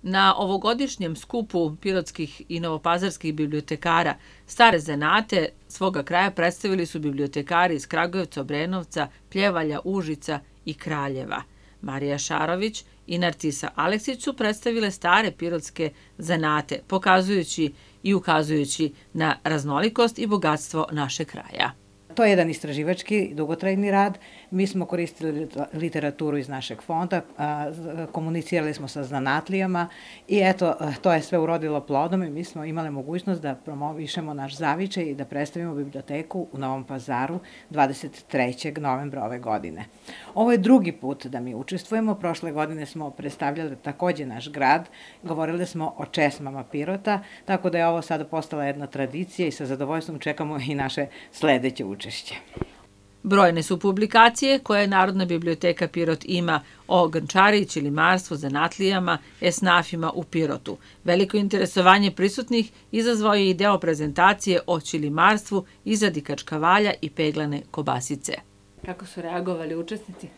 Na ovogodišnjem skupu pirotskih i novopazarskih bibliotekara stare zanate svoga kraja predstavili su bibliotekari iz Kragujevca, Obrenovca, Pljevalja, Užica i Kraljeva. Marija Šarović i Narcisa Aleksić su predstavile stare pirotske zanate, pokazujući i ukazujući na raznolikost i bogatstvo našeg kraja. To je jedan istraživački, dugotrajni rad. Mi smo koristili literaturu iz našeg fonda, komunicirali smo sa zanatlijama i eto, to je sve urodilo plodom i mi smo imali mogućnost da promovišemo naš zavičaj i da predstavimo biblioteku u Novom Pazaru 23. novembra ove godine. Ovo je drugi put da mi učestvujemo. Prošle godine smo predstavljali takođe naš grad, govorili smo o česmama Pirota, tako da je ovo sada postala jedna tradicija i sa zadovoljstvom čekamo i naše sledeće učešće. Brojne su publikacije koje Narodna biblioteka Pirot ima o grnčari, ćilimarstvu, zanatlijama, esnafima u Pirotu. Veliko interesovanje prisutnih izazvao je i deo prezentacije o ćilimarstvu, izradi kačkavalja i peglane kobasice. Kako su reagovali učesnici?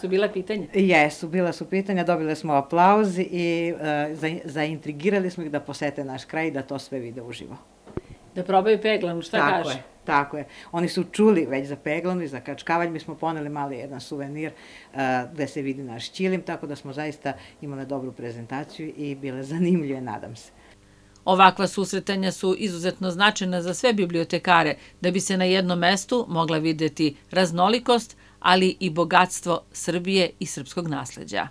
Su bila pitanja? Jesu, bila su pitanja, dobili smo aplauz i zaintrigirali smo ih da posete naš kraj i da to sve vide uživo. Da probaju peglanu, šta kaže? Tako je. Oni su čuli već za peglanu i za kačkavalj. Mi smo poneli mali jedan suvenir gde se vidi naš ćilim, tako da smo zaista imali dobru prezentaciju i bile zanimljive, nadam se. Ovakva susretanja su izuzetno značajna za sve bibliotekare, da bi se na jednom mestu mogla videti raznolikost, ali i bogatstvo Srbije i srpskog nasleđa.